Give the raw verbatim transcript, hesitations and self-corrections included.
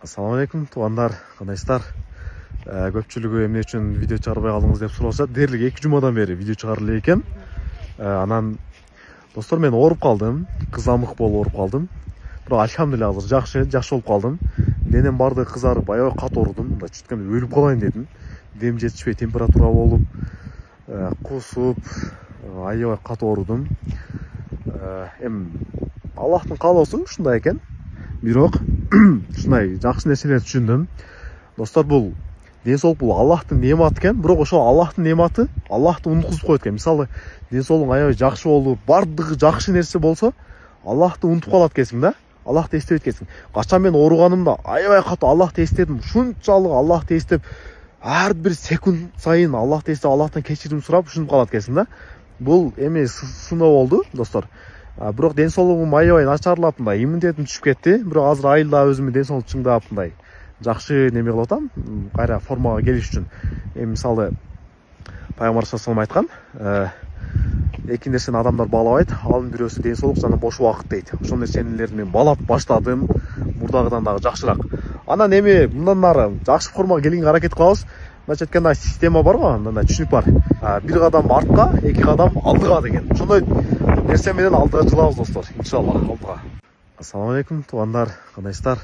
Assalamu alaikum туугандар, кандайсыздар? Көпчүлүгү эмне үчүн видео чыгарбай калдыңыз деп сурашат. Дээрлик эки жумадан бери видео чыгарып эле экен. Анан достор, мен ооруп калдым, кызамык болуп ооруп калдым. Бирок альхамдулилла азыр жакшы, жакшы болуп калдым. Денем баардыгы кызарып, аябай катуу оорудум. Мындай чүткөндө өлүп калайын дедим. Дем жетишпей, температура болуп, кусуп, аябай катуу оорудум. Эми Аллахтын каалоосу ушундай экен. Бирок ушундай жакшы нерселерди түшүндүм. Достор, бул ден соолук бул Аллахтын неаматы экен, бирок ошол Аллахтын неаматы Аллахты унуткузуп коет экен. Мисалы, ден соолугуң аябай жакшы болуп, баардыгы жакшы нерсе болсо, Аллахты унутуп калат экенсиң да. Аллахты эстебейт экенсиң. Качан мен ооруганымда аябай катуу Аллахты эстедим. Ушунчалык Аллахты эстеп, ар бир секунд сайын Аллахты эстеп, Аллахтан кечирим сурап ушинтип калат экенсиң да. Бул эми сыноо болду, достор. Бирок ден соолугум аябай начарлап, мындай иммунитетим түшүп кетти. Бирок азыр айылда өзүмдүн ден соолук чыңдап, мындай жакшы неме кылып атам, кайра формага келиш үчүн. Эми мисалы Пайгамбар саллаллаху алейхи айткан, эки нерсени адамдар баалабайт. Анын бирөөсү ден соолук жана бош убакыт дейт. Ошол нерселерди мен баалап баштадым, мурдагыдан дагы жакшыраак. Анан эми мындан нары жакшы формага келгенге аракет кылабыз. Мындайча айтканда, система бар го, мындай түшүнүк бар. Бир кадам артка, эки кадам алдыга деген. Ошондой нерсе менен алдыга жылабыз, достор. Иншалла, алдыга. Ассаламу алейкум туугандар, кандайсыздар?